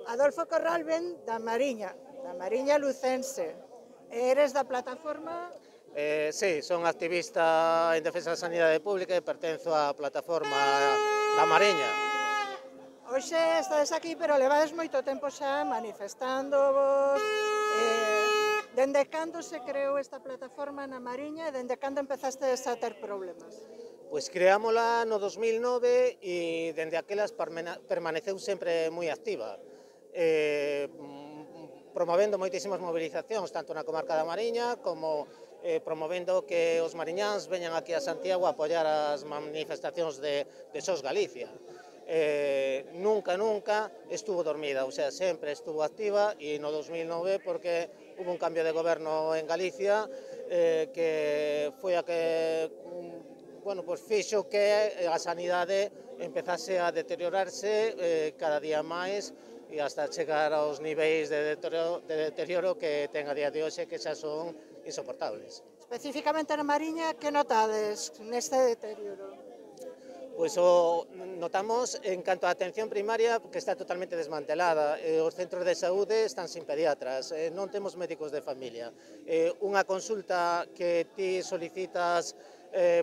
Adolfo Corral ven da Mariña lucense. Eres da plataforma? Sí, son activista en defensa da sanidade pública e pertenzo á plataforma da Mariña. Hoxe estades aquí, pero levades moito tempo xa manifestándovos. Dende cando se creou esta plataforma na Mariña e dende cando empezastes a ter problemas? Pois creámola no 2009 e dende aquelas permaneceu sempre moi activa, promovendo moitísimas movilizacións, tanto na comarca da Mariña como promovendo que os mariñáns veñan aquí a Santiago a apoiar as manifestacións de SOS Galicia. Nunca estuvo dormida, o sea, sempre estuvo activa e no 2009 porque hubo un cambio de goberno en Galicia que foi a que pues fixo que a sanidade empezase a deteriorarse cada día máis e hasta chegar aos niveis de deterioro que ten a día de hoxe, que xa son insoportables. Especificamente na Mariña, que notades neste deterioro? Pois o notamos en canto á atención primaria que está totalmente desmantelada, os centros de saúde están sin pediatras, non temos médicos de familia, unha consulta que ti solicitas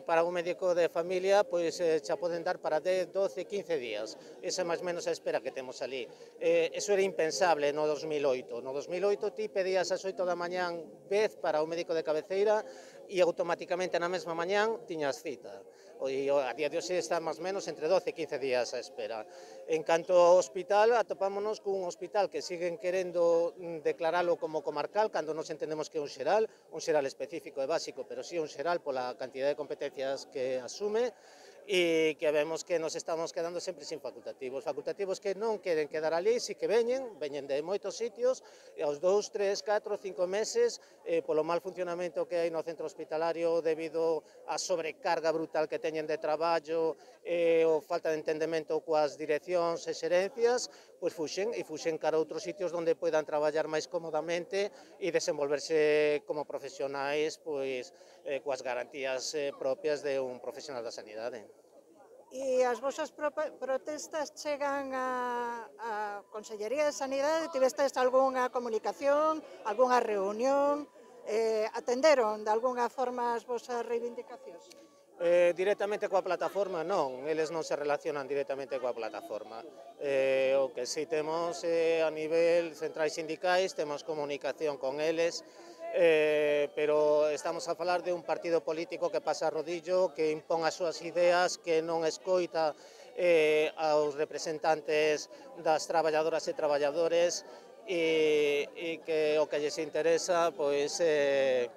para un médico de familia, pois xa poden dar para 10, 12, 15 días, esa máis menos a espera que temos ali. Eso era impensable no 2008, no 2008 ti pedías ás 8 da mañán vez para o médico de cabeceira e automáticamente na mesma mañán tiñas cita. E a día de hoxe está máis menos entre 12 e 15 días a espera. En canto ao hospital, atopámonos cun hospital que siguen querendo declaralo como comarcal, cando nos entendemos que é un xeral específico e básico, pero sí un xeral pola cantidad de competencias que asume, e que vemos que nos estamos quedando sempre sin facultativos que non queren quedar ali, si que veñen de moitos sitios, e aos 2, 3, 4, 5 meses, polo mal funcionamento que hai no centro hospitalario debido á sobrecarga brutal que teñen de traballo e a falta de entendemento coas direccións e xerencias, pois fuxen cara a outros sitios onde poidan traballar máis cómodamente e desenvolverse como profesionais pois coas garantías propias de un profesional da sanidade. E as vosas protestas chegan á Consellería de Sanidade? Tivestes algunha comunicación, algunha reunión? Atenderon de algunha forma as vosas reivindicacións? Directamente coa plataforma non, eles non se relacionan directamente coa plataforma. O que si temos a nivel centrais sindicais, temos comunicación con eles, pero estamos a falar de un partido político que pasa a rodillo, que impón as súas ideas, que non escoita aos representantes das traballadoras e traballadores e que o que lles interesa pois é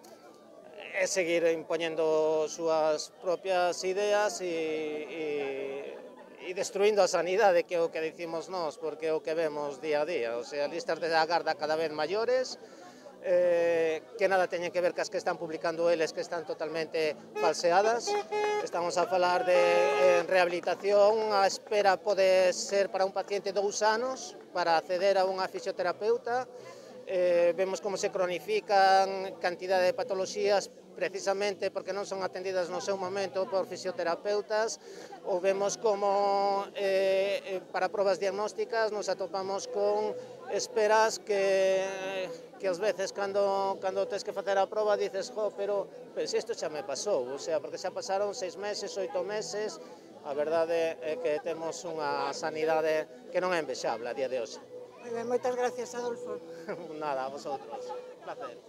seguir impoñendo súas propias ideas e destruindo a sanidade, que é o que dicimos nós, porque é o que vemos día a día, o sea, listas de agarda cada vez maiores, que nada teñen que ver cas que están publicando eles, que están totalmente falseadas. Estamos a falar de rehabilitación, a espera pode ser para un paciente 2 anos para acceder a unha fisioterapeuta. Vemos como se cronifican cantidade de patoloxías precisamente porque non son atendidas no seu momento por fisioterapeutas, ou vemos como para probas diagnósticas nos atopamos con esperas que ás veces cando tes que facer a proba dices, pero se isto xa me pasou, o sea, porque xa pasaron 6 meses, 8 meses, a verdade é que temos unha sanidade que non é envexable a día de hoxe. Moi ben, moitas gracias, Adolfo. Nada, a vosotros. Un placer.